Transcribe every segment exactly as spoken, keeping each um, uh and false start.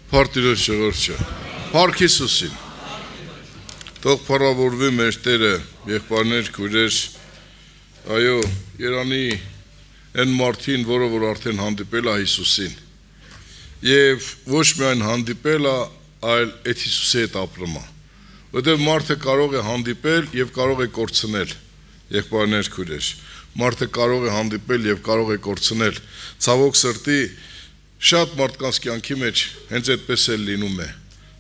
Փարտիրոջ ժողովուրդը, Փառք Հիսուսին, թող փառավորվի մեր Տերը, եղբայրներ, քույրեր, այո, Երանի այն մարդին, որը որ արդեն հանդիպել է Հիսուսին, եւ ոչ միայն հանդիպել է, այլ այդ Հիսուսի հետ ապրում է, որտեղ մարդը կարող է հանդիպել եւ կարող է կորցնել, եղբայրներ, քույրեր, մարդը կարող է հանդիպել եւ կարող է կորցնել, ցավոք սրտի շատ մարդկանց կյանքի մեջ հենց այդպես էլ լինում է։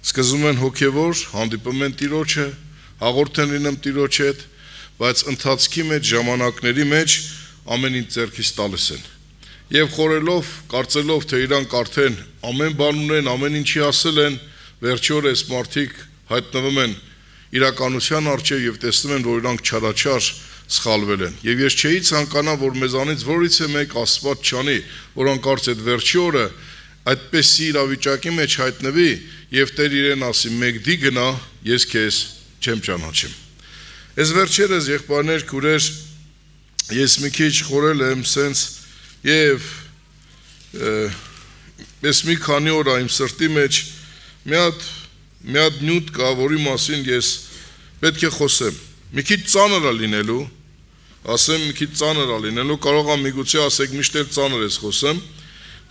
Սկզբում են հոգևոր, հանդիպում են Տիրոջը, հաղորդ են լինում Տիրոջ հետ, բայց ընթացքի մեջ, ժամանակների մեջ ամեն ինչ ձեռքից տալիս են։ Եվ խորելով, կարծելով, թե իրանք արդեն ամեն բան ունեն, ամեն ինչի ասել են, վերջի օրը այս մարդիկ հայտնվում են իրականության առջև եւ տեսնում են, որ իրանք չարաչար սխալվել են։ Եվ ես չէի ցանկանա, որ մեզանից որից է մեկ Աստված չանի, որ անկարծ այդ վերջի օրը այդպեսի իրավիճակի մեջ հայտնվի եւ Տեր իրեն ասի՝ «Մեկ դի գնա, ես քեզ չեմ ճանաչում»։ Այս վերջերս եղբայրներ, քուրեր, ես մի քիչ խորել եմ սենց եւ ես մի քանի օր իմ սրտի մեջ մի հատ մի հատ նյութ կա, որի մասին ես պետք է խոսեմ։ Մի քիչ ծանր է լինելու, ասեմ մի քիչ ծանր է լինելու, կարող եմ միգուցե ասեք միշտ էլ ծանր ես խոսեմ,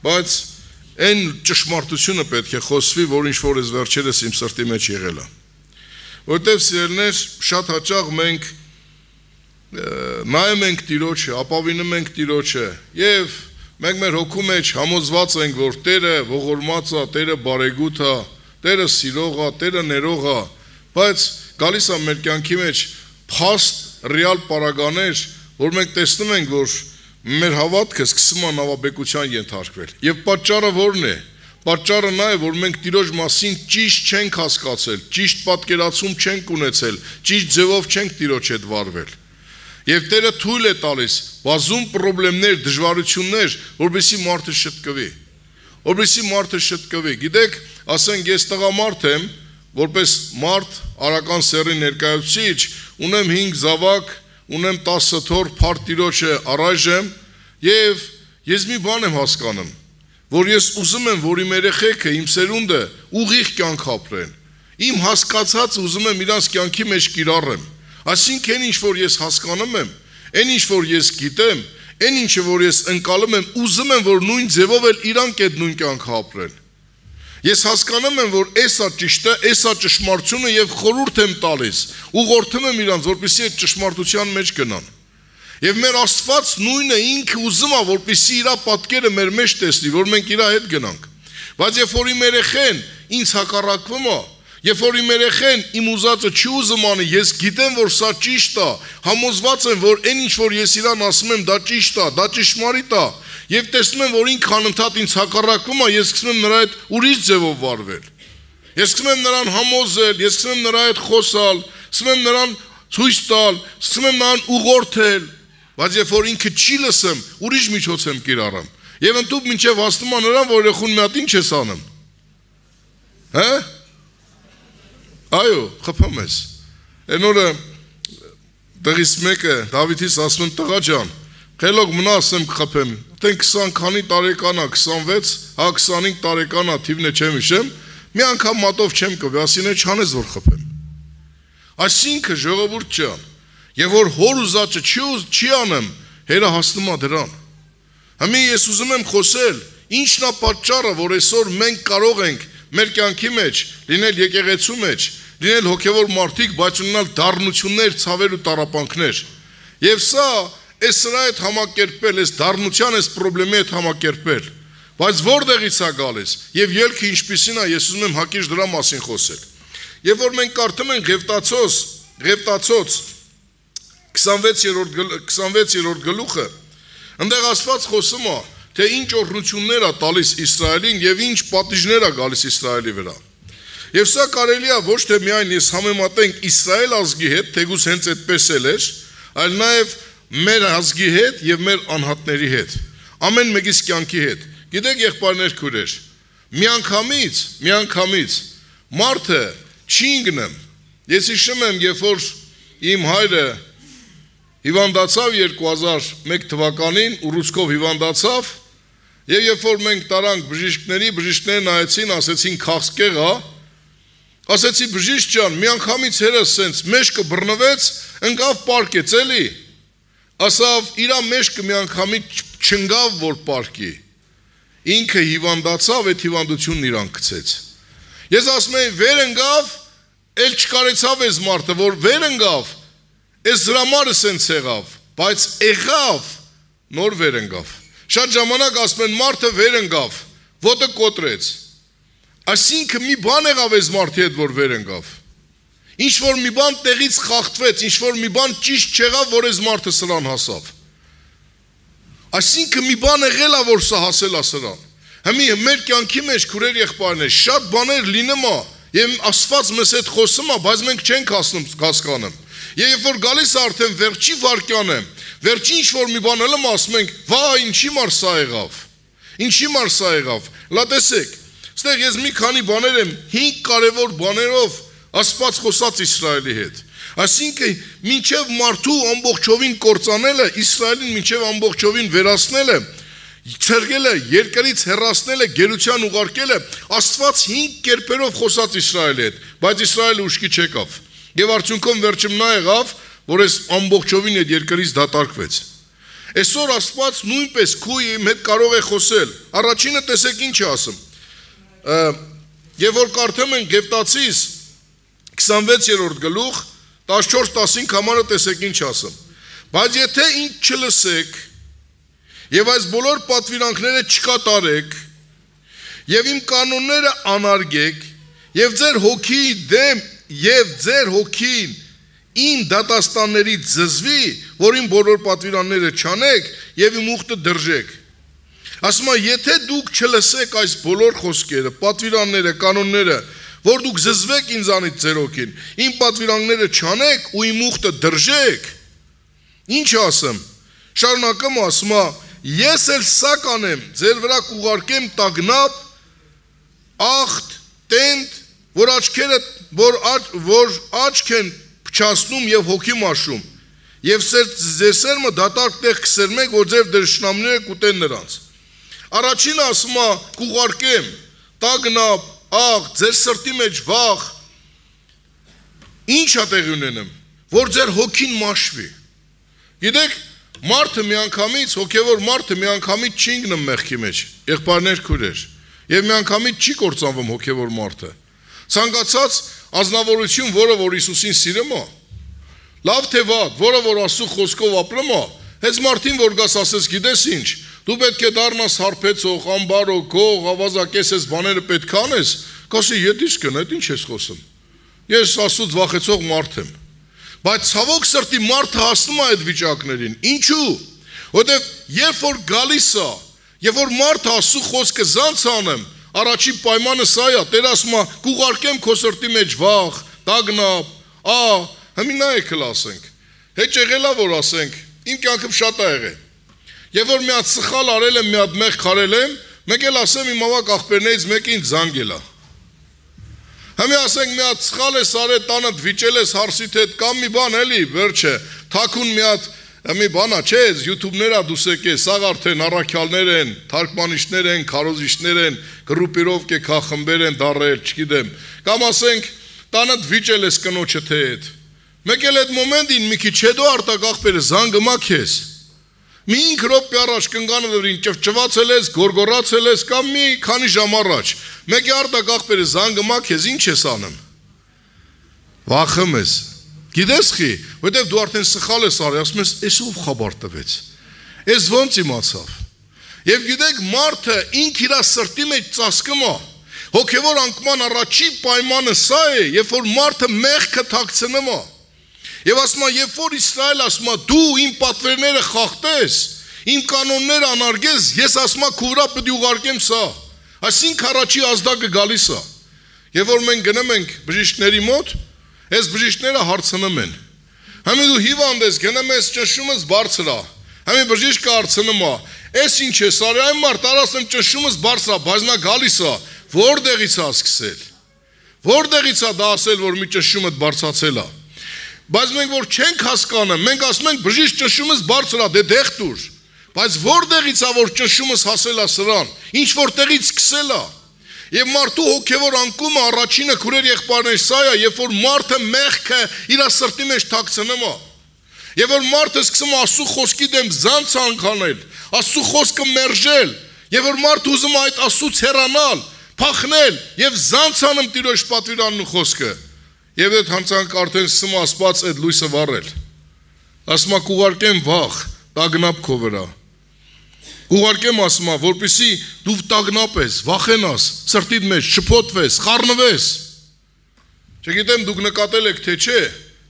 բայց այն ճշմարտությունը պետք է խոսվի, որ ինչ որ այս վերջերս իմ սրտի մեջ եղել է։ Որտեւ սիրելիներ, շատ հաճախ մենք նայում ենք Տիրոջը, ապավինում ենք Տիրոջը եւ մենք մեր հոգու մեջ համոզված ենք, որ Տերը ողորմած է, Տերը բարեգութ է, Տերը սիրող է, Տերը ներող է, բայց գալիս է մեր կյանքի մեջ փաստ ռեալ պարագաներ, որ մենք տեսնում ենք, որ մեր հավատքը սկսում է նավաբեկության ենթարկվել։ Եվ պատճառը ո՞րն է։ Պատճառը նա է, որ մենք Տիրոջ մասին ճիշտ չենք հասկացել, ճիշտ պատկերացում չենք ունեցել, ճիշտ ձևով չենք Տիրոջ հետ վարվել։ Եվ Տերը թույլ է տալիս բազում խնդիրներ, դժվարություններ, որովհետեւ մարդը շտկվի։ Որովհետեւ մարդը շտկվի։ Գիտեք, ասենք ես տղամարդ եմ, որպես մարդ, արական սեռի ներկայացուցիչ, ունեմ հինգ զավակ, ունեմ տասը թոռ, փառք Տիրոջը առայժմ, եւ ես մի բան եմ հասկանում, որ ես ուզում եմ, որ իմ երեխեքը, իմ սերունդը ուղիղ կյանք ապրեն։ Իմ հասկացած ուզում եմ իրանց կյանքի մեջ կիրառեմ։ Այսինքն ինչ որ ես հասկանում եմ, այն ինչ որ ես գիտեմ, այն ինչը որ ես ընկալում եմ, ուզում եմ, որ նույն ձևով էլ իրանք այդ նույն կյանքը ապրեն։ Ես հասկանում եմ, որ էսա ճիշտ է, էսա ճշմարտությունը եւ խորհուրդ եմ տալիս, ուղղորդում եմ իրանց, որպեսզի այդ ճշմարտության մեջ գնան։ Եվ մեր Աստված նույնը ինքը ուզում է, որպեսզի իր պատկերը մեր մեջ տեսնի, որ մենք իր հետ գնանք։ Բայց երբ որ իմ երեխեն ինձ հակառակվում է, երբ որ իմ երեխեն իմ ուզածը չի ուզում անի, ես գիտեմ, որ սա ճիշտ է, համոզված եմ, որ այն ինչ որ ես իրան ասում եմ, դա ճիշտ է, դա ճշմարիտ է, եւ տեսնում եմ, որ ինքը անընդհատ ինձ հակառակվում է, ես սկսում եմ նրա հետ ուրիշ ձևով վարվել։ Ես սկսում եմ նրան համոզել, ես սկսում եմ նրա հետ խոսալ, սկսում եմ նրան ցույց տալ, սկսում եմ նրան ուղղորդել, բայց երբ որ ինքը չի լսում, ուրիշ միջոց եմ կիրառում։ Եվ ընդդուք մինչև հասնում է նրան, որ երեխուն մի հատ ինչ ես անում։ Հա՞։ Այո, խփում ես։ Այն օրը դղիս մեկը Դավիթից ասում եմ տղա ջան, խելոք մնա ասեմ կխփեմ։ Տեն քսան քանի տարեկան է, քսանվեց, հա քսանհինգ տարեկան է, թիվն է չեմ հիշեմ, մի անգամ մատով չեմ կվի, ասին է չանես որ խփեմ։ Այսինքն ժողովուրդ ջան, եւ որ հոր ուզածը չի չի անեմ, հերը հասնում է դրան։ Հիմա ես ուզում եմ խոսել, ինչն է պատճառը, որ այսօր մենք կարող ենք մեր կյանքի մեջ լինել եկեղեցու մեջ, լինել հոգևոր մարդիկ, բայց ունենալ դառնություններ, ցավեր ու տառապանքներ։ Եվ սա այս սրա հետ համակերպել, այս դառնության, այս խնդրի հետ համակերպել։ Բայց որտեղից է գալիս։ Եվ ելքը ինչպիսին է, ես ուզում եմ հակիրճ դրա մասին խոսել։ Եվ որ մենք կարդում ենք Ղևտացոց, Ղևտացոց քսանվեցերորդ գլուխը, այնտեղ Աստված խոսում է, թե ինչ օրհնություններ է տալիս Իսրայելին եւ ինչ պատիժներ է գալիս Իսրայելի վրա։ Եվ սա կարելի է ոչ թե միայն ես համեմատենք Իսրայել ազգի հետ, թեկուզ հենց այդպես էլ էր, այլ նաեւ մեր ազգի հետ եւ մեր անհատների հետ, ամեն մեկիս կյանքի հետ։ Գիտեք եղբայրներ քուրեր, միանգամից, միանգամից մարդը չի ընկնում։ Ես հիշում եմ, երբ որ իմ հայրը հիվանդացավ երկու հազար մեկ թվականին, ուռուցքով հիվանդացավ, Եվ երբ որ մենք տարանք բժիշկների, բժիշկները նայեցին, ասեցին քաղցկեղ է, ասեցի բժիշկ ջան, մի անգամից հերս սենց մեջքը բռնվեց, ընկավ պարկեց էլի, ասավ իրա մեջքը մի անգամից չընկավ, որ պարկի, ինքը հիվանդացավ, այդ հիվանդությունն իրան գցեց։ Ես ասում եմ վեր ընկավ, էլ չկարեցավ այս մարդը, որ վեր ընկավ, այս դրամարը սենց եղավ, բայց եղավ, նոր վեր ընկավ։ Շատ ժամանակ ասում են մարդը վեր ընկավ, ոտը կոտրեց։ Այսինքն մի բան եղավ այս մարդի հետ, որ վեր ընկավ։ Ինչ որ մի բան տեղից խախտվեց, ինչ որ մի բան ճիշտ չեղավ, որ այս մարդը սրան հասավ։ Այսինքն մի բան եղել է, որ սա հասել է սրան։ Հիմա մեր կյանքի մեջ քուրեր եղբայրներ շատ բաներ լինում է, եւ Աստված մեզ հետ խոսում է, բայց մենք չենք հասկանում։ Եվ երբ որ գալիս է արդեն վերջի վարկյանը, վերջի ինչ որ մի բան ելում ասում ենք, վա, ինչի մար սա եղավ։ Ինչի մար սա եղավ։ Լա տեսեք, այստեղ ես մի քանի բաներ եմ, հինգ կարևոր բաներով Աստված խոսած Իսրայելի հետ։ Այսինքն, մինչև մարդու ամբողջովին կործանելը, Իսրայելին մինչև ամբողջովին վերացնելը, ցերգելը, երկրից հեռացնելը, գերության ուղարկելը, Աստված հինգ կերպերով խոսած Իսրայելի հետ, բայց Իսրայելը ուշքի չեկավ։ Եվ արդյունքում վերջում նա եղավ, որ այս ամբողջովին այդ երկրից դատարկվեց։ Այսօր Աստված նույնպես քույ իմ հետ կարող է խոսել։ Առաջինը տեսեք ինչ է ասում։ Եվ որ կարդում են Գևտացիս քսանվեցերորդ գլուխ տասնչորս տասնհինգ համարը տեսեք ինչ ասում։ Բայց եթե ինձ չլսեք եւ այս բոլոր պատվիրանքները չկատարեք եւ իմ կանոնները անարգեք եւ ձեր հոգի դեմ եւ ձեր հոգին իմ դատաստաններից զզվի, որ իմ բոլոր պատվիրանները չանեք եւ իմ ուխտը դրժեք։ Ասում եմ, եթե դուք չլսեք այս բոլոր խոսքերը, պատվիրանները, կանոնները, որ դուք զզվեք ինձանից ձեր հոգին, իմ պատվիրանները չանեք ու իմ ուխտը դրժեք, ինչ ասեմ։ Շարունակում ասում է, ես էլ սա կանեմ, ձեր վրա կուղարկեմ տագնապ, ախտ, տենդ, որ աչքերը, որ, աչ, որ աչք են փչացնում եւ հոգի մաշում, եւ ձեր սերմը դատարկ տեղ կսերմեք, որ ձեր դժշնամները կուտեն նրանց։ Առաջինը ասում է, կուղարկեմ, տագնապ, աղ, ձեր սրտի մեջ վախ, ինչ է տեղի ունենում, որ ձեր հոգին մաշվի։ Գիտեք, մարդը միանգամից, հոգևոր մարդը միանգամից չի ընկնում մեղքի մեջ, եղբայրներ քույրեր, եւ միանգամից չի կործանվում հոգևոր մարդը։ Ցանկացած ազնվորություն, որը որ Հիսուսին սիրում է, լավ թե վատ, որը որ Աստծո խոսքով ապրում է, հենց մարդին որ գաս ասես գիտես ինչ, դու պետք է դառնաս հարբեցող, ամբարո, գող, ավազակես այս բաները պետք է անես, կասի ետիշ կն, այդ ինչ ես խոսում։ Ես Աստծուց վախեցող մարդ եմ։ Բայց ցավոք սրտի մարդը հասնում է այդ վիճակներին։ Ինչու՞։ Որտեվ երբ որ գալիս է, երբ որ մարդը Աստծո խոսքը զանց անեմ, առաջի պայմանը սա է, Տեր ասում է, կուղարկեմ քո սրտի մեջ վախ, տագնապ, ա, հիմա նայեք ասենք։ Հետ եղելա որ ասենք, իմ կյանքում շատ է եղել։ Եվ որ մի հատ սխալ արել եմ, մի հատ մեղ քարել եմ, մեկ էլ ասեմ իմ ավակ աղբերներից մեկը ինձ զանգել է։ Հիմա ասենք մի հատ սխալ ես արել, տանդ վիճել ես հարսիդ հետ կամ մի բան էլի, վերջը, թաքուն մի հատ մի բանա, չէ, YouTube-ները դուսեք է, սաղ արդեն առաքյալներ են, թարգմանիչներ են, քարոզիչներ են, գրուպիրովկե քախմբեր են դարել, չգիտեմ։ Կամ ասենք, տանդ վիճել ես կնոջը թե հետ։ Մեկ էլ այդ մոմենտին մի քիչ հետո արտակ աղբերը զանգը մա քեզ։ Մի ինք րոպե առաջ կնկանը դրին ճվճվացել ես, գորգորացել ես կամ մի քանի ժամ առաջ։ Մեկ է արտակ աղբերը զանգը մա քեզ ինչ ես անում։ Վախում ես։ Գիտես խի, որտեվ դու արդեն սխալ ես արել, ասում ես, «Էս ով խաբար տվեց»։ Էս ոնց իմացավ։ Եվ գիտեք, մարդը ինք իր սրտի մեջ ծածկում է։ Հոգևոր անկման առաջի պայմանը սա է, երբ որ մարդը մեղքը թաքցնում է։ Եվ ասում է, երբ որ Իսրայել ասում է, դու իմ պատվերները խախտես, իմ կանոնները անարգես, ես ասում եմ, քո վրա պետք է ուղարկեմ սա։ Այսինքն առաջի ազդակը գալիս է։ Եվ որ մենք գնում ենք բժիշկների մոտ, այս բժիշկները հարցնում են։ Հիմա դու հիվանդ ես, գնում ես ճնշումս բարձր է։ Հիմա բժիշկը հարցնում է, «Էս ինչ ես արել, այն մարդ արասեմ ճնշումս բարձր է, բայց նա գալիս է, որտեղից է սկսել։ Որտեղից է դա ասել, որ մի ճնշումը բարձրացել է։ Բայց մենք որ չենք հասկանում, մենք ասում ենք բժիշկ ճնշումս բարձր է, դե դեղ տուր։ Բայց որտեղից է որ ճնշումս հասել է սրան, ինչ որտեղից սկսել է։ Եվ մարդու հոգևոր անկումը առաջինը քուրեր եղբայրներ սա է, երբ որ մարդը մեղքը իր սրտի մեջ թաքցնում է։ Եվ որ մարդը սկսում է Աստծո խոսքի դեմ զանց անքանել, Աստծո խոսքը մերժել, եւ որ մարդը ուզում է այդ Աստծուց հեռանալ, փախնել եւ զանց անում Տիրոջ պատվիրանն ու խոսքը։ Եվ այդ հանցանք արդեն սկսում է Աստված այդ լույսը վառել։ Ասում է կուղարկեմ վախ, տագնապ քո վրա։ Կուղարկեմ ասում է, որպեսզի դու տագնապես, վախենաս, սրտիդ մեջ շփոթվես, խառնվես։ Չգիտեմ դուք նկատել եք թե չէ,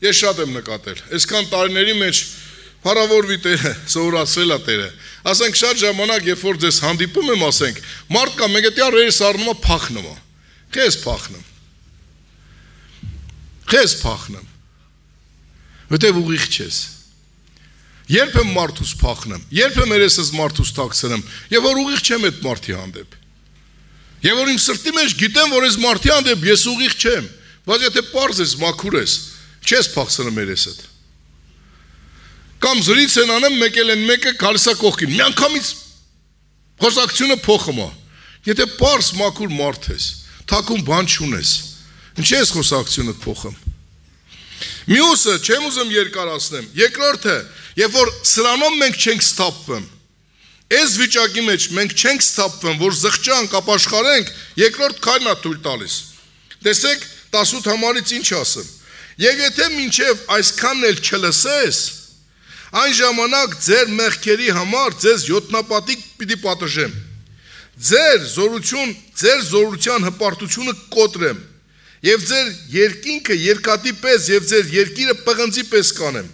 ես շատ եմ նկատել։ Այսքան տարիների մեջ փառավորվի Տերը, սովորացրել է Տերը։ Ասենք շատ ժամանակ, երբ որ ձեզ հանդիպում եմ, ասենք, մարդ կա մեկ էտի ռերս առնում է փախնում է։ Քեզ փախնում։ Քեզ փախնում։ Որտեւ ուղիղ չես։ Երբ եմ մարդուս փախնեմ, երբ եմ երեսս մարդուս թաքցնեմ, եւ որ ուղիղ չեմ այդ մարդի հանդեպ։ Եվ որ իմ սրտի մեջ գիտեմ, որ այս մարդի հանդեպ ես ուղիղ չեմ, բայց եթե պարզ ես, մաքուր ես, չես փախցնում երեսդ։ Կամ զրից են անեմ, մեկ էլ են մեկը գալիս է կողքին, միանգամից խոսակցությունը փոխում է։ Եթե պարզ մաքուր մարդ ես, թաքուն բան չունես, ինչի՞ ես խոսակցությունը փոխում։ Մյուսը, չեմ ուզում երկարացնեմ, երկրորդը, երբ որ սրանով մենք չենք սթափվում, այս վիճակի մեջ մենք չենք սթափվում, որ զղջանք, ապաշխարենք, երկրորդ քայլն է թույլ տալիս։ Տեսեք, տասութ համարից ինչ ասեմ։ Եվ եթե մինչև այսքանն էլ չլսես, այն ժամանակ ձեր մեղքերի համար ձեզ յոթնապատիկ պիտի պատժեմ։ Ձեր զորություն, ձեր զորության հպարտությունը կոտրեմ։ Եվ ձեր երկինքը երկատի պես եւ ձեր երկիրը պղնձի պես կանեմ։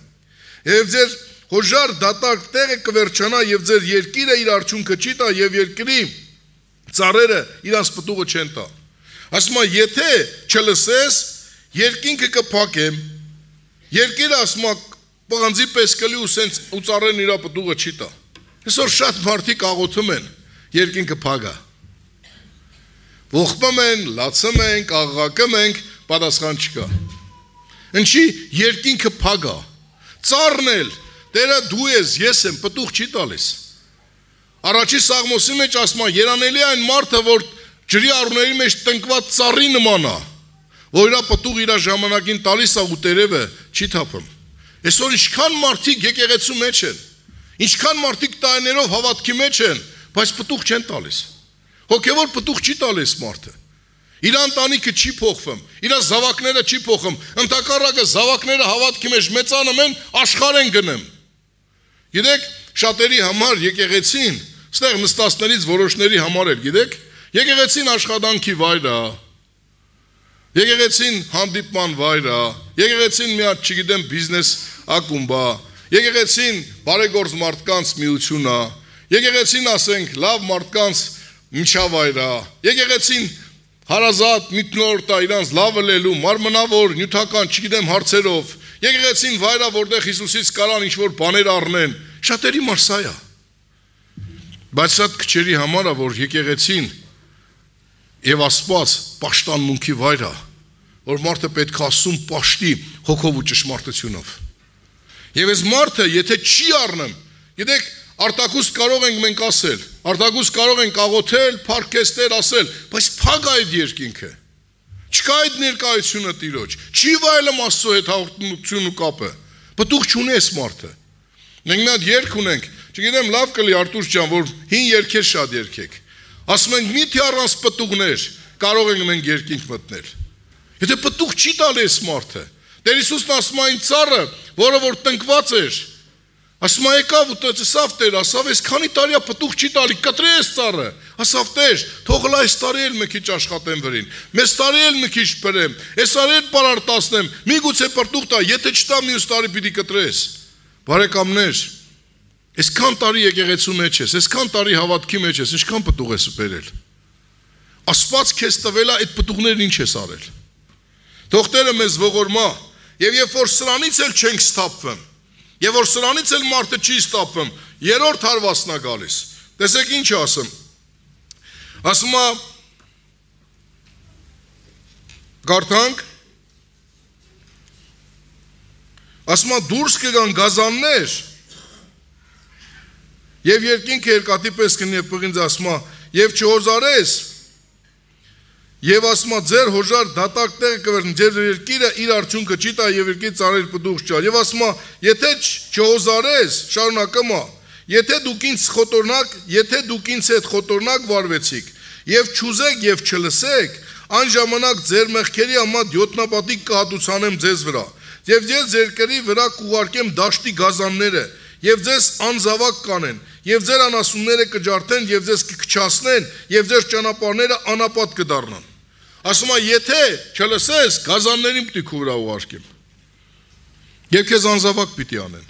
Եվ ձեր հոժար դատարկ տեղը կվերջանա եւ ձեր երկիրը իր արդյունքը չի տա եւ երկրի ծառերը իրանց պտուղը չեն տա։ Ասում է, եթե չլսես, երկինքը կփակեմ, երկիրը ասում է պղնձի պես կլի ու սենց ու ծառերն իր պտուղը չի տա։ Այսօր շատ մարդիկ աղոթում են, երկինքը փագա։ Ողբում են, լացում ենք, աղաղակում ենք, պատասխան չկա։ Ինչի երկինքը փագա։ Ծառն էլ, Տերը դու ես, ես եմ, պտուղ չի տալիս։ Առաջի Սաղմոսի մեջ ասում է, երանելի այն մարդը, որ ջրի առուների մեջ տնկված ծառի նման է, որ իր պտուղ իր ժամանակին տալիս է ու տերևը չի թափում։ Այսօր ինչքան մարդիկ եկեղեցու մեջ են, ինչքան մարդիկ տարիներով հավատքի մեջ են, բայց պտուղ չեն տալիս։ Հոգևոր պտուղ չի տալիս մարդը։ Իր ընտանիքը չի փոխվում, իր զավակները չի փոխում, ընդհակառակը զավակները հավատքի մեջ մեծանում են, աշխարհ են գնում։ Գիտեք, շատերի համար եկեղեցին, ստեղ նստածներից որոշների համար էլ, գիտեք, եկեղեցին աշխատանքի վայր է, եկեղեցին հանդիպման վայր է, եկեղեցին մի հատ, չգիտեմ, բիզնես ակումբ է, եկեղեցին բարեգործ մարդկանց միություն է, եկեղեցին, ասենք, լավ մարդկանց միջավայր է, եկեղեցին հարազատ միտնորդ է իրանց լավը լելու, մարմնավոր, նյութական, չգիտեմ հարցերով, եկեղեցին վայր է, որտեղ Հիսուսից կարան ինչ-որ բաներ առնեն, շատերի համար սա է։ Բայց շատ քչերի համար է, որ եկեղեցին եւ Աստված պաշտամունքի վայր է, որ մարդը պետք է ասում պաշտի հոգով ու ճշմարտությունով։ Եվ այս մարդը, եթե չի առնում, գիտեք, արտակուստ կարող ենք մենք ասել, արտակուստ կարող ենք աղոթել, փառքեստեր ասել, բայց փակ է այդ երկինքը։ Չկա այդ ներկայությունը Տիրոջ, չի վայելում Աստծո հետ հաղորդություն ու կապը։ Պտուղ չունի այս մարդը։ Մենք մի հատ երգ ունենք, չգիտեմ, լավ կլի Արտուր ջան, որ հին երգեր շատ երգեք։ Ասում ենք մի թե առանց պտուղներ կարող ենք մենք երկինք մտնել։ Եթե պտուղ չի տալի այս մարդը, Տեր Հիսուսն ասում է այն ծառը, որը որ տնկված էր, ասում է եկավ ու տեսավ Տեր, ասավ այս քանի տարի է պտուղ չի տալի, կտրե այս ծառը, ասավ Տեր, թող այս տարի էլ մի քիչ աշխատեմ վրին, մեծ տարի էլ մի քիչ բերեմ, այս տարի էլ պարարտացնեմ, միգուցե պտուղ տա, եթե չտա մյուս տարի պիտի կտրես։ Բարեկամներ, այսքան տարի եկեղեցու մեջ ես, այսքան տարի հավատքի մեջ ես, ինչքան պտուղ ես բերել։ Աստված քեզ տվել է այդ պտուղներն ինչ ես արել։ Թող Տերը մեզ ողորմա, եւ երբ որ սրանից էլ չենք սթափվում, եւ որ սրանից էլ մարդը չի սթափվում, երրորդ հարվածն է գալիս։ Տեսեք ինչ ասում։ Ասում է Գարթանք ասում է դուրս կգան գազաններ Եվ երկինքը երկաթի պես կնի եւ պղինձ ասма, եւ չհոզարես, եւ ասма ձեր հոժար դատակ տեղը կվերնի, ձեր երկիրը իր արդյունքը չի տա եւ երկրի ծառեր պտուղ չա։ Եվ ասма, եթե չհոզարես, շարունակումա, եթե դուք ինձ խոտորնակ, եթե դուք ինձ հետ խոտորնակ վարվեցիք, եւ չուզեք եւ չլսեք, այն ժամանակ ձեր մեղքերի համար յոթնապատիկ կհատուցանեմ ձեզ վրա։ Եվ ես երկրի վրա կուղարկեմ դաշտի գազանները, եւ ձեզ անզավակ կանեն, եւ ձեր անասունները կջարդեն, եւ ձեզ կքչացնեն, եւ ձեր ճանապարհները անապատ կդառնան։ Ասում է, եթե չլսես, գազաններին պիտի քու վրա ուղարկեմ։ Եվ քեզ անզավակ պիտի անեն։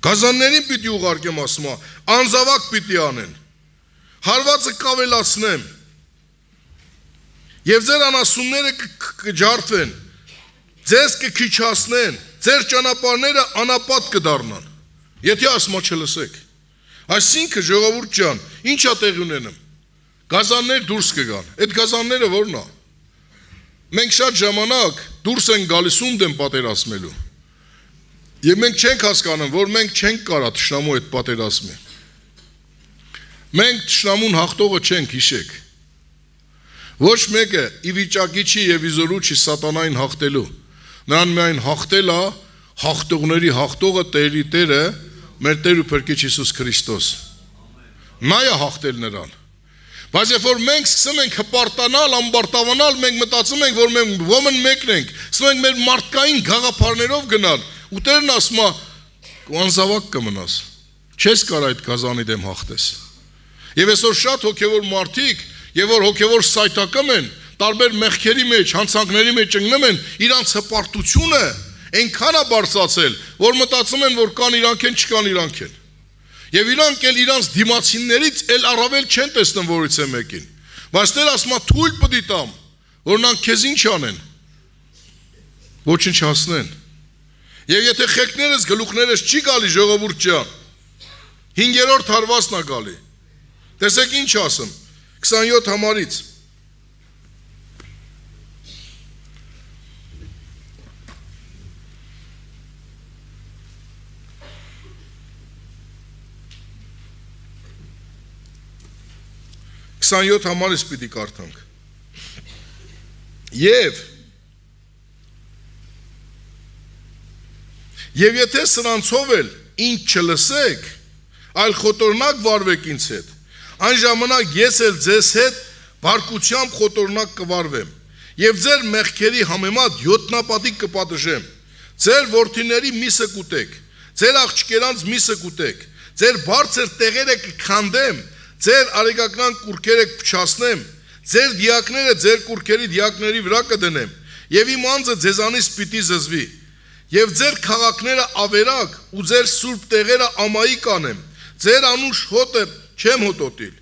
Գազաններին պիտի ուղարկեմ, ասում է, անզավակ պիտի անեն։ Հարվածը կավելացնեմ։ Եվ ձեր անասունները կջարդվեն, ձեզ կքչացնեն, ձեր ճանապարհները անապատ կդառնան։ Եթե ասում է չլսեք։ Այսինքն ժողովուրդ ջան, ի՞նչ է տեղի ունենում։ Գազաններ դուրս կգան։ Այդ գազանները ո՞րն է։ Մենք շատ ժամանակ դուրս են գալիս ում դեմ պատերազմելու։ Եվ մենք չենք հասկանում, որ մենք չենք կարա թշնամու այդ պատերազմը։ Մենք թշնամուն հաղթողը չենք, հիշեք։ Ոչ մեկը ի վիճակի չի եւ իզորու չի սատանային հաղթելու։ Նրան միայն հաղթել է հաղթողների հաղթողը Տերի Տերը, մեր Տեր ու Փրկիչ Հիսուս Քրիստոս։ Նա է հաղթել նրան։ Բայց երբ որ մենք սկսում ենք հպարտանալ, ամբարտավանալ, մենք մտածում ենք, որ մենք ոմն մեկն ենք, սկսում ենք մեր մարդկային գաղափարներով գնալ, ու Տերն ասում է, անզավակ կմնաս, չես կարող այդ գազանի դեմ հաղթես։ Եվ այսօր շատ հոգևոր մարդիկ, եւ որ հոգևոր սայթակում են, տարբեր մեղքերի մեջ, հանցանքների մեջ ընկնում են, իրանց հպարտությունը այնքան է բարձրացել, որ մտածում են, որ կան իրանք են, չկան իրանք են։ Եվ իրանք էլ իրանց դիմացիներից էլ առավել չեն տեսնում որից է մեկին։ Բայց Տեր ասում է թույլ պիտի տամ, որ նրանք քեզ ինչ անեն։ Ոչնչացնեն։ Եվ եթե խելքներս, գլուխներս չի գալի ժողովուրդ ջան, հինգերորդ հարվածն է գալի։ Տեսեք ինչ ասում, քսանյոթ համարից։ քսանյոթ համարից պիտի կարդանք։ Եվ Եվ եթե սրանցով էլ ինձ չլսեք, այլ խոտորնակ վարվեք ինձ հետ, այն ժամանակ ես էլ ձեզ հետ բարկությամբ խոտորնակ կվարվեմ, եւ ձեր մեղքերի համեմատ յոթնապատիկ կպատժեմ, ձեր որդիների միսը կուտեք, ձեր աղջկերանց միսը կուտեք, ձեր բարձր տեղերը կքանդեմ, ձեր արեգական կուրքերը կփչացնեմ, ձեր դիակները ձեր կուրքերի դիակների վրա կդնեմ, եւ իմ անձը ձեզանից պիտի զզվի, եւ ձեր քաղաքները ավերակ ու ձեր սուրբ տեղերը ամայի կանեմ, ձեր անուշ հոտը չեմ հոտոտիլ,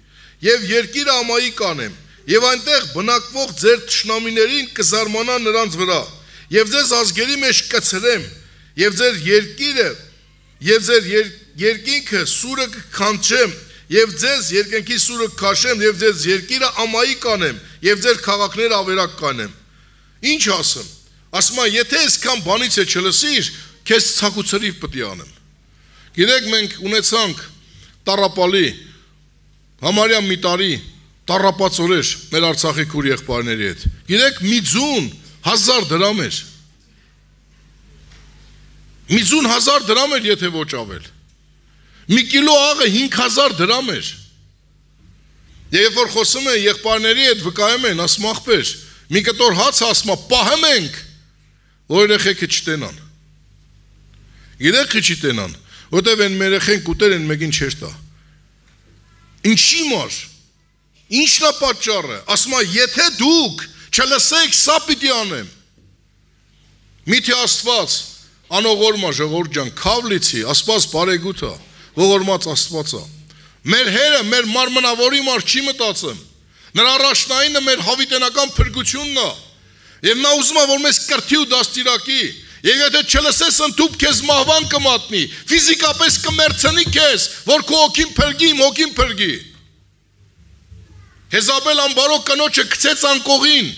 եւ երկիրը ամայի կանեմ, եւ այնտեղ բնակվող ձեր թշնամիներին կզարմանա նրանց վրա, եւ ձեզ ազգերի մեջ կցրեմ, եւ ձեր երկիրը, եւ ձեր երկինքը սուրը կքանչեմ, եւ ձեզ երկնքի սուրը կքաշեմ, եւ ձեզ երկիրը ամայի կանեմ, եւ ձեր քաղաքները ավերակ կանեմ։ Ինչ ասեմ։ Ասում եմ, եթե այսքան բանից է չլսիր, քեզ ցակուցրիվ պիտի անեմ։ Գիտեք, մենք ունեցանք տառապալի, համարյա մի տարի տառապած օրեր մեր Արցախի քուր եղբայրների հետ։ Գիտեք, մի ձուն հազար դրամ էր։ Մի ձուն հազար դրամ էր, եթե ոչ ավել։ Մի կիլո աղը հինգ հազար դրամ էր։ Եվ երբ որ խոսում է եղբայրների հետ վկայում են, ասում ախպեր, մի կտոր հաց ասում, պահեմ ենք, որ երեխեքը չտենան։ Գիտեք չի տենան, որտեվ են մեր երեխեն կուտեր են մեկին չեր տա։ Ինչի մար։ Ինչն է պատճառը։ Ասում է, եթե դուք չլսեք, սա պիտի անեմ։ Միթե Աստված անողորմա ժողովուրդ ջան, քավլիցի, Աստված բարեգութա, ողորմած Աստվածա։ Մեր հերը, մեր մարմնավորի մար չի մտածում։ Նրա առաջնայինը մեր հավիտենական փրկությունն է։ Եվ նա ուզում է, որ մեզ կրթի ու դաստիարակի։ Եվ եթե չլսես, ընդհուպ քեզ մահվան կմատնի, ֆիզիկապես կմեռցնի քեզ, որ քո հոգին փրկի, իմ հոգին փրկի։ Հեզաբել անբարոք կնոջը գցեց անկողին,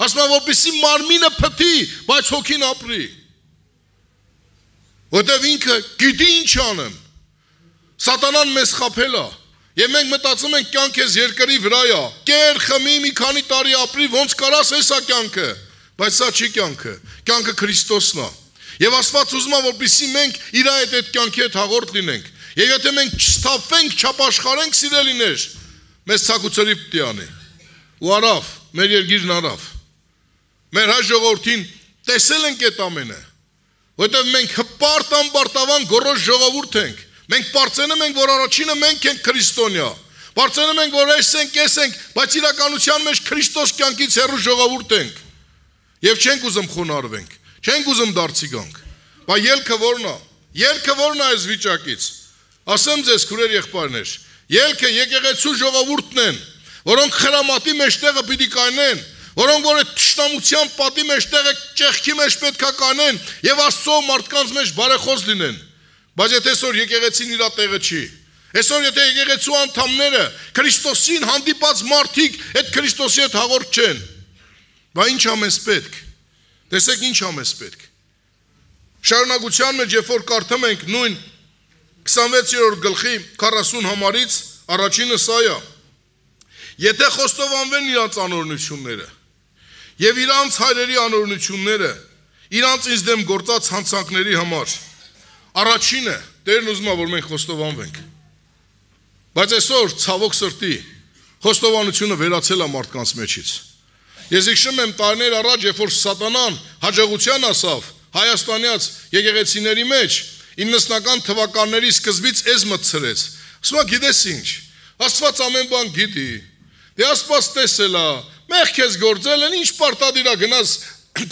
ասում է, որպեսզի մարմինը փթի, բայց հոգին ապրի։ Որտեվ ինքը գիտի ինչ անեմ, Սատանան մեզ խաբել է։ Եվ մենք մտածում ենք կյանք ես երկրի վրա է։ Կեր, խմի, մի քանի տարի ապրի, ոնց կարաս էսա կյանքը։ Բայց սա չի կյանքը։ Կյանքը Քրիստոսն է։ Եվ Աստված ուզում է, որպեսզի մենք իր հետ այդ կյանքի հետ հաղորդ լինենք։ Եվ եթե մենք չստափվենք, չապաշխարենք, սիրելիներ, մեզ ցակուցրի պիտի անի։ Ու արավ, մեր երկիրն արավ։ Մեր հայ ժողովրդին տեսել ենք այդ ամենը։ Որտեղ մենք հպարտ ամբարտավան գորոշ ժողովուրդ ենք։ Մենք բարձենում ենք, որ առաջինը մենք ենք քրիստոնյա։ Բարձենում ենք, որ այս ենք, այս ենք, բայց իրականության մեջ Քրիստոս կյանքից հեռու ժողովուրդ ենք։ Եվ չենք ուզում խոնարհվենք, չենք ուզում դարձի գանք։ Բայց ելքը ո՞րն է։ Ելքը ո՞րն է այս վիճակից։ Ասեմ ձեզ, քուրեր եղբայրներ, ելքը եկեղեցու ժողովուրդն են, որոնք խրամատի մեջտեղը պիտի կանեն, որոնք որ այդ թշնամության պատի մեջտեղը ճեղքի մեջ պետք է կանեն եւ Աստծո մարդկանց մեջ բարեխոս լինեն։ Բայց եթե այսօր եկեղեցին իր տեղը չի, այսօր եթե եկեղեցու անդամները Քրիստոսին հանդիպած մարդիկ այդ Քրիստոսի հետ հաղորդ չեն, բա ինչ ա մեզ պետք։ Տեսեք ինչ ա մեզ պետք։ Շարունակության մեջ երբ որ կարդում ենք նույն քսանվեցերորդ գլխի քառասուն համարից առաջինը սա է. Եթե խոստովանվեն իրանց անօրենությունները եւ իրանց հայրերի անօրենությունները, իրանց ինձ դեմ գործած հանցանքների համար, առաջինը Տերն ուզում է, որ մենք խոստովանվենք։ Բայց այսօր ցավոք սրտի խոստովանությունը վերացել է մարդկանց մեջից։ Ես հիշում եմ տարիներ առաջ, երբ որ Սատանան հաջողության ասավ հայաստանյաց եկեղեցիների մեջ, իննսնական թվականների սկզբից էս մտցրեց։ Ասում գիտես ինչ, Աստված ամեն բան գիտի։ Դե Աստված տեսել է, մեղ քեզ գործել են, ինչ պարտադիր է գնաս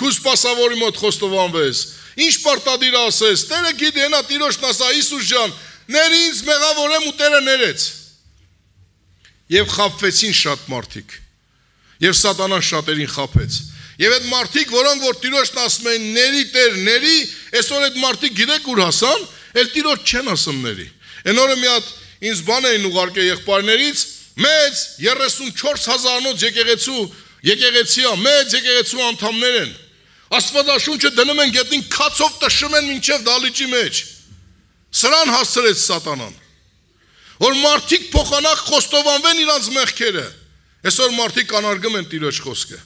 քու սպասավորի մոտ խոստովանվես։ Ինչ պարտադիր է ասես, Տերը գիտի, հենա Տիրոջն ասա Հիսուս ջան, ներ ինձ մեղավորեմ ու Տերը ներեց։ Եվ խաբվեցին շատ մարդիկ։ Եվ Սատանան շատերին խաբեց։ Եվ այդ մարդիկ, որոնք որ Տիրոջն ասում են ների Տեր, ների, այսօր այդ մարդիկ գիտեք ուր հասան, էլ Տիրոջ չեն ասում ների։ Այն օրը մի հատ ինձ բան էին ուղարկել եղբայրներից, մեծ երեսունչորս հազարանոց եկեղեցու, եկեղեցի է, մեծ եկեղեցու անդամներ են։ Աստվածաշունչը դնում են գետնին քացով տշում են մինչև դալիճի մեջ։ Սրան հասցրեց Սատանան, որ մարդիկ փոխանակ խոստովանվեն իրանց մեղքերը։ Այսօր մարդիկ անարգում են Տիրոջ խոսքը։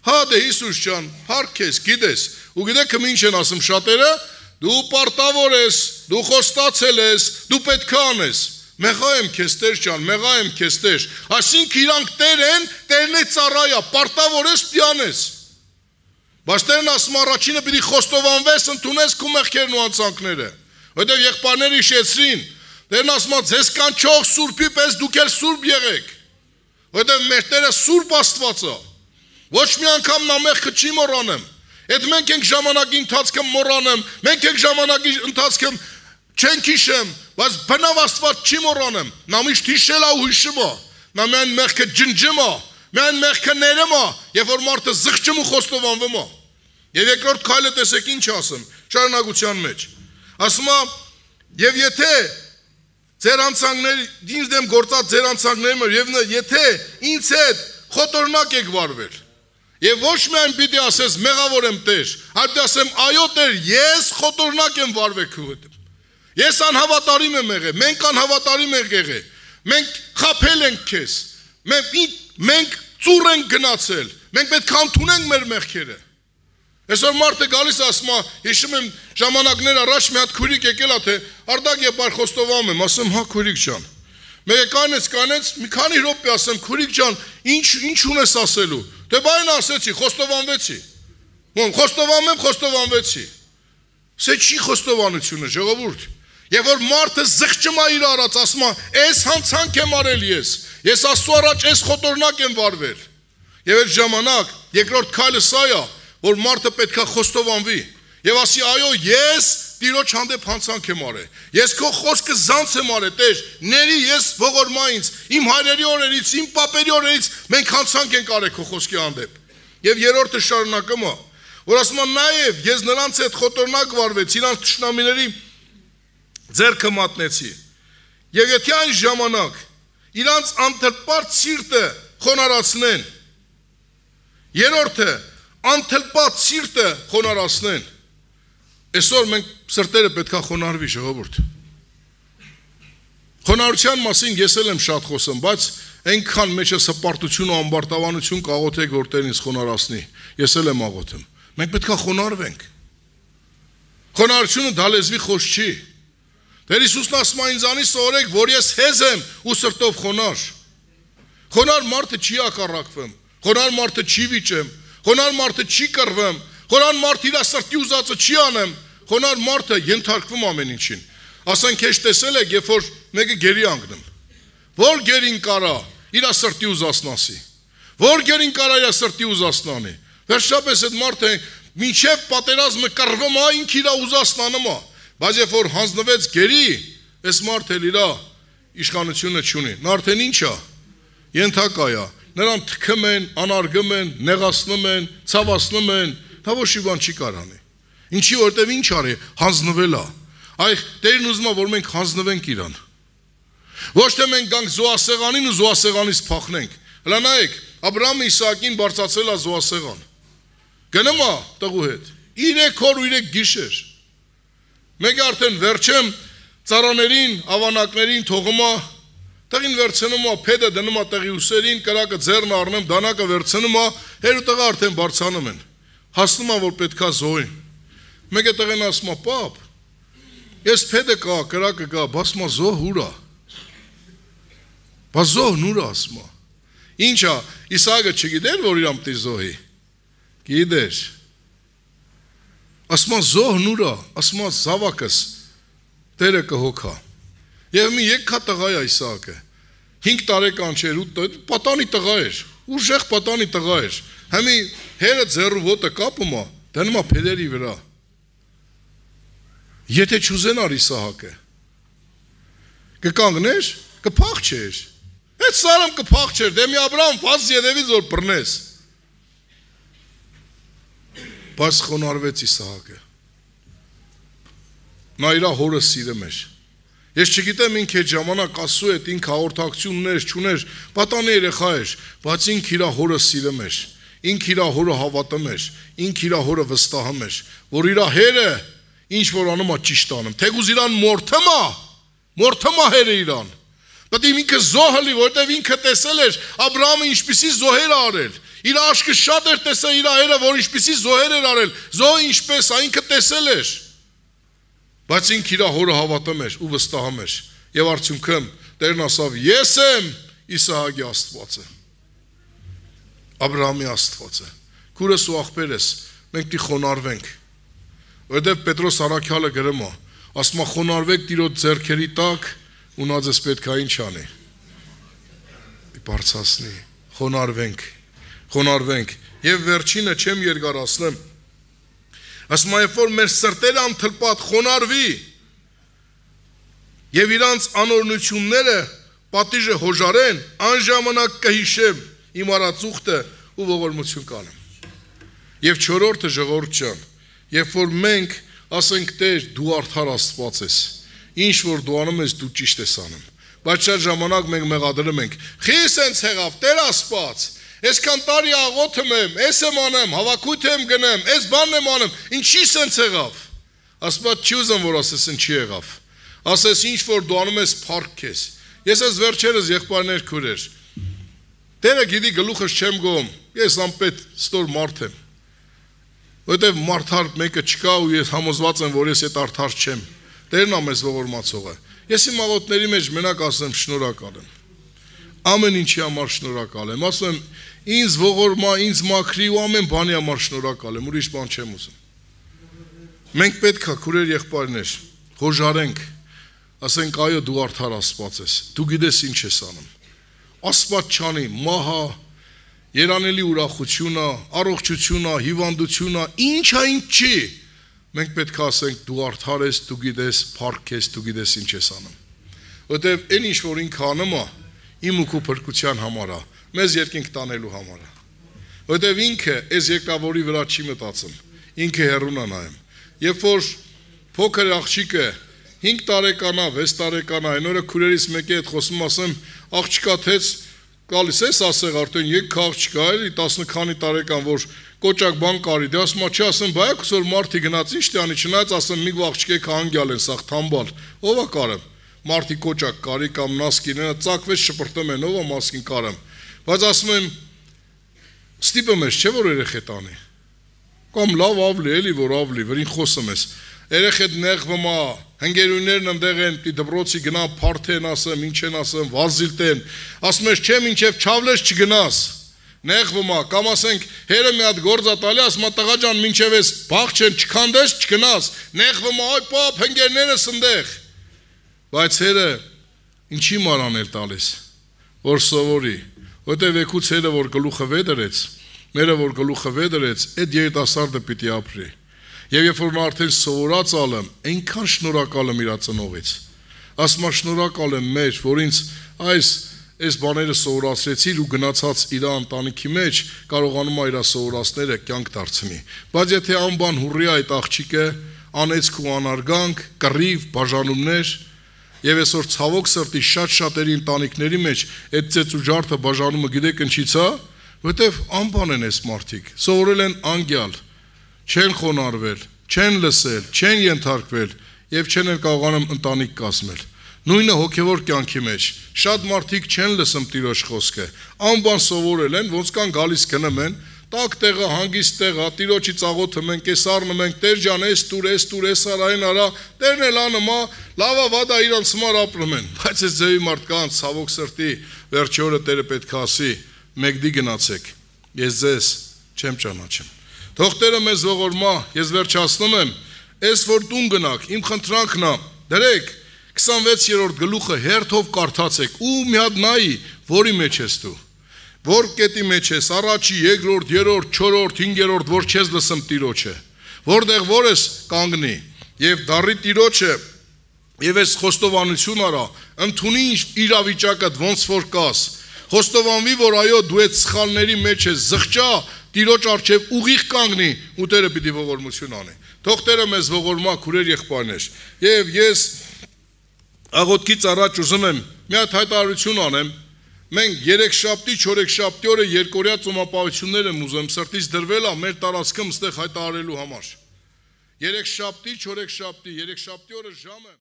Հա դե Հիսուս ջան, հարկ ես, գիտես, ու գիտեք ինչ են ասում շատերը, դու պարտավոր ես, դու խոստացել ես, դու պետք է անես։ Մեղա եմ քեզ Տեր ջան, մեղա եմ քեզ Տեր։ Այսինքն իրանք Տեր են, Տերն է ծառայա, պարտավոր ես պիտի անես։ Բայց Տերն ասում առաջինը պիտի խոստովանվես, ընդունես քո մեղքերն ու անցանքները։ Որտեղ եղբայրները հիշեցրին, Տերն ասում է ձեզ կանչող Սուրբի պես դուք էլ Սուրբ եղեք։ Որտեղ մեր Տերը Սուրբ Աստված է։ Ոչ մի անգամ նա մեղքը չի մոռանում։ Այդ մենք ենք ժամանակի ընթացքում մոռանում, մենք ենք ժամանակի ընթացքում չենք հիշում, բայց բնավ Աստված չի մոռանում։ Նա միշտ հիշել է ու հիշում է։ Նա միայն մեղքը ջնջում է, միայն մեղքը ներում է, երբ որ մարդը զղջում ու խոստովանվում է։ Եվ երկրորդ քայլը տեսեք ինչ ասում, շարունակության մեջ։ Ասում է, եւ եթե ձեր անցանքների, ինձ դեմ գործած ձեր անցանքների, եւ եթե ինձ հետ խոտորնակ եք վարվել, եւ ոչ միայն պիտի ասես մեղավոր եմ Տեր, այլ պիտի ասեմ այո Տեր, ես խոտորնակ եմ վարվել քո հետ։ Ես անհավատարիմ եմ եղել, մենք անհավատարիմ ենք եղել, մենք խաբել ենք քեզ, մենք մենք ծուռ ենք գնացել, մենք պետք է ընդունենք մեր մեղքերը։ Այսօր մարդը գալիս ասում է, հիշում եմ ժամանակներ առաջ մի հատ քուրիկ եկել է, թե Արդակ եպար խոստովանում եմ, ասում հա քուրիկ ջան։ Մեկը կանեց, կանեց, մի քանի րոպե ասեմ, քուրիկ ջան, ինչ ինչ ունես ասելու։ Դե բայն ասեցի, խոստովանվեցի։ Ո՞ն խոստովանում եմ, խոստովանվեցի։ Սա չի խոստովանությունը, ժողովուրդ։ Եվ որ մարդը զղջում է իր արած, ասում է, «Էս հանցանք եմ արել ես, ես Աստծո առաջ էս խոտորնակ եմ վարվել»։ Եվ այդ ժամանակ երկրորդ քայլը սա է, որ մարդը պետք է խոստովանվի եւ ասի, «Այո, ես Տիրոջ հանդեպ հանցանք եմ արել։ Ես քո խոսքը զանց եմ արել, Տեր, ների ես ողորմա ինձ, իմ հայրերի օրերից, իմ պապերի օրերից մենք հանցանք ենք արել քո խոսքի հանդեպ»։ Եվ երրորդը շարունակում է, որ ասում է, «Նաեւ ես նրանց հետ խոտորնակ վարվեցի, իրանց թշնամիների ձեռքը մատնեցի։ Եվ եթե այն ժամանակ իրանց անթլպարտ սիրտը խոնարհացնեն, երրորդը անթլպարտ սիրտը խոնարհացնեն, այսօր մենք սրտերը պետք է խոնարհվի ժողովուրդ։ Խոնարհության մասին ես էլ եմ շատ խոսում, բայց այնքան մեջս հպարտություն ու ամբարտավանություն կաղոթեք, որ Տերն ինձ խոնարհացնի։ Ես էլ եմ աղոթում։ Մենք պետք է խոնարհվենք։ Խոնարհությունը դա լեզվի խոսք չի։ Տեր Հիսուսն ասում է ինձանից սովորեք, որ ես հեզ եմ ու սրտով խոնարհ։ Խոնարհ մարդը չի ակառակվեմ, խոնարհ մարդը չի վիճեմ, խոնարհ մարդը չի կռվեմ, խոնարհ մարդը իր սրտի ուզածը չի անեմ, խոնարհ մարդը ենթարկվում ամեն ինչին։ Ասենք քեզ տեսել եք, երբ որ մեկը գերի անգնում։ Որ գերին կարա իր սրտի ուզածնասի։ Որ գերին կարա իր սրտի ուզածնանի։ Վերջապես այդ մարդը մինչև պատերազմը կռվում է, ինքը իր ուզածնանում է։ Բայց երբ որ հանձնվեց գերի, այս մարդը իր իշխանությունը չունի։ Նա արդեն ինչ է։ Ենթակա է։ Նրան թքում են, անարգում են, նեղացնում են, ցավացնում են, դա ոչ մի բան չի կարանի։ Ինչի որտեվ ինչ արի, հանձնվել է։ Այ Տերն ուզում է, որ մենք հանձնվենք իրան։ Ոչ թե մենք գանք զոհասեղանին ու զոհասեղանից փախնենք։ Հələ նայեք, Աբրահամը Իսահակին բարձրացրել է զոհասեղան։ Գնում է տղու հետ։ Երեք օր ու երեք գիշեր։ Մեկը արդեն վերջեմ ծառաներին, ավանակներին թողում է, տղին վերցնում է, փեդը դնում է տղի ուսերին, կրակը ձեռն առնում, դանակը վերցնում է, հեր ու տղա արդեն բարձանում են։ Հասնում է, որ պետքա զոհին։ Մեկը տղեն ասում է, պապ, ես փեդը կա, կրակը կա, բաս մա զոհ ուր է։ Բաս զոհն ուր է ասում է։ Ինչ է, Իսահակը չգիտեր, որ իրան պիտի զոհի։ Գիտեր։ Ասում է զոհն ուր է, ասում է զավակս Տերը կհոգա։ Եվ մի եկքա տղա է Իսահակը։ հինգ տարեկան չէր, պատանի տղա էր, ուժեղ պատանի տղա էր։ Հիմի հերը ձեռու ոտը կապում է, դնում է փեդերի վրա։ Եթե չուզենար Իսահակը, կկանգներ, կփախչեր։ Այդ սարամ կփախչեր, դե մի Աբրահամ վազ յետևից որ բռնես։ Բայց խոնարհվեց Իսահակը։ Նա իր հորը սիրում էր։ Ես չգիտեմ ինքը այդ ժամանակ ասու է, ինքը հաղորդակցություն ուներ, չուներ, պատանի երեխա էր, բայց ինքը իր հորը սիրում էր, ինքը իր հորը հավատում էր, ինքը իր հորը վստահում էր, որ իր հերը ինչ որ անում է ճիշտ անում, թեկուզ իրան մորթում է, մորթում է հերը իրան։ Բայց ինքը զոհ լի, որտեվ ինքը տեսել էր Աբրահամը ինչպիսի զոհեր արել։ Իր աշկը շատ էր տեսել իր հերը, որ ինչպիսի զոհեր էր արել, զոհը ինչպես է, ինքը տեսել էր։ Բայց ինքը իր հորը հավատում էր ու վստահում էր։ Եվ արդյունքում Տերն ասավ. Ես եմ Իսահակի Աստվածը, Աբրահամի Աստվածը, քուրս ու աղբերս, մենք պիտի խոնարհվենք։ Որտեվ Պետրոս առաքյալը գրում է, ասում է խոնարհվեք Տիրոջ ձեռքերի տակ, ու նա ձեզ պետք է ինչ անի։ Բարձրացնի, խոնարհվենք, խոնարհվենք։ Եվ վերջինը չեմ երկարացնեմ։ Ասում է, երբ որ մեր սրտերը անթլպատ խոնարհվի եւ իրանց անօրնությունները պատիժը հոժարեն, անժամանակ կհիշեմ իմ արածուղտը ու ողորմություն կանեմ։ Եվ չորրորդը ժողովուրդ ջան, երբ որ մենք ասենք Տեր, դու արդար Աստված ես, ինչ որ դու անում ես, դու ճիշտ ես անում։ Բայց շատ ժամանակ մենք մեղադրում ենք. Խի սենց եղավ, Տեր Աստված, այսքան տարի աղոթում եմ, ես եմ անեմ, հավաքույթ եմ գնեմ, այս բանն եմ անում, ինչի սենց եղավ։ Աստված չի ուզում, որ ասես ինչի եղավ։ Ասես ինչ որ դու անում ես, փառք քեզ։ Ես այս վերջերս եղբայրներ քուրեր։ Տերը գիտի գլուխս չեմ գոհում, ես անպետ ստոր մարդ եմ։ Որտեվ մարդար մեկը չկա ու ես համոզված եմ, որ ես այդ արդար չեմ։ Տերն է մեզ ողորմացողը։ Ես իմ աղոթների մեջ մենակ ասեմ շնորհակալ եմ։ Ամեն ինչի համար շնորհակալ եմ։ Ասում եմ, ինձ ողորմա, ինձ մաքրի ու ամեն բանի համար շնորհակալ եմ, ուրիշ բան չեմ ուզում։ Մենք պետք է քուրեր եղբայրներ հոժարենք, ասենք այո դու արդար Աստված ես, դու գիտես ինչ ես անում։ Աստված չանի, մահա, երանելի ուրախությունը, առողջությունը, հիվանդությունը, ինչ է ինչ չի։ Մենք պետք է ասենք դու արդար ես, դու գիտես, փառք ես, դու գիտես ինչ ես անում։ Որտեվ այն ինչ որ ինքը անում է, իմ ու քո փրկության համար է, մեզ երկինք տանելու համար է։ Որտեվ ինքը այս եկավորի վրա չի մտածում, ինքը հեռուն է նայում։ Երբ որ փոքր աղջիկը հինգ տարեկան է, վեց տարեկան է, այն օրը քուրերից մեկի հետ խոսում ասեմ, աղջիկա թեց գալիս ես ասեղ արդեն եք աղջիկա էլի տասը քանի տարեկան որ կոճակ բան կարի, դե ասում չի ասեմ, բայ ակս որ մարդի գնաց ինչ տանի, չնայած ասեմ մի աղջիկ է անգյալ են, սաղ թամբալ, ով է կարեմ, մարդի կոճակ կարի կամ նասկինը ծակվեց շպրտում են ով մասկին կարամ, բայց ասում եմ ստիպում ես չէ որ երեխետ անի, կամ լավ ավլի էլի որ ավլի, որին խոսում ես, երեխետ նեղվում է, հնգերույներն ընդեղ են, դպրոցի գնա փարթեն ասեմ, ինչ են ասեմ, վազիլտեն, ասում ես չէ մինչև չավլես չգնաս, նեղվում է, կամ ասենք հերը մի հատ գործ ա տալի, ասում է տղա ջան մինչև ես բաղ չեն չքանդես չգնաս, նեղվում է, այ պապ հնգերներս ընդեղ, բայց հերը ինչի մարանել տալիս, որ սովորի, որտեվ եկուց հերը որ գլուխը վեդրեց, մերը որ գլուխը վեդրեց, այդ երիտասարդը պիտի ապրի, և երբ որ նա արդեն սովորած ալեմ, այնքան շնորհակալ եմ իր ծնողից, ասում եմ շնորհակալ եմ մեր, որ ինձ այս այս բաները սովորացրեցիր ու գնացած իր ընտանիքի մեջ կարողանում է իր սովորածները կյանք դարձնի, բայց եթե անբան հուրի այդ աղջիկը անեծք ու անարգանք, կռիվ, բաժանումներ, եւ այսօր ցավոք սրտի շատ-շատերի ընտանիքների մեջ այդ ծեծ ու ջարդը բաժանումը գիտեք ինչից է, որտեվ անբան են այս մարդիկ, սովորել են անգյալ, չեն խոնարհվել, չեն լսել, չեն ենթարկվել եւ չեն էլ կարողանում ընտանիք կազմել։ Նույնը հոգեվոր կյանքի մեջ, շատ մարդիկ չեն լսում Տիրոջ խոսքը, անբան սովորել են, ոնց կան գալիս գնում են, տակ տեղը, հանգիստ տեղը, Տիրոջի ծաղոթում են, կեսառնում են, Տեր ջան, էս տուր, էս տուր, էս արային արա, Տերն էլ անում է, լավա վադա իրանց համար ապրում են, բայց այս ձևի մարդկանց ցավոք սրտի վերջի օրը Տերը պետք է ասի, մեկդի գնացեք, ես ձեզ չեմ ճանաչում։ Թող Տերը մեզ ողորմա, ես վերջացնում եմ, այս որ տուն գնաք, իմ խնդրանքն է, դրեք քսանվեցերորդ գլուխը հերթով կարդացեք ու մի հատ նայի, որի մեջ ես դու, որ կետի մեջ ես, առաջի, երկրորդ, երրորդ, չորրորդ, հինգերորդ, որ չես լսում Տիրոջը, որտեղ որ ես կանգնի, եւ դառի Տիրոջը, եւ ես խոստովանություն արա, ընդունի իրավիճակդ ոնց որ կաս, խոստովանվի, որ այո դու այդ սխալների մեջ ես, զղջա Տիրոջ առջև ուղիղ կանգնի ու Տերը պիտի ողորմություն անի։ Թող Տերը մեզ ողորմա քուրեր եղբայրներ։ Եվ ես աղոթքից առաջ ուզում եմ մի հատ հայտարարություն անեմ։ Մենք երեքշաբթի, չորեքշաբթի օրը երկօրյա ծոմապահություններ եմ ուզում սրտից դրվել է մեր տարածքում ստեղ հայտարարելու համար։ Երեքշաբթի, չորեքշաբթի, երեքշաբթի օրը ժամը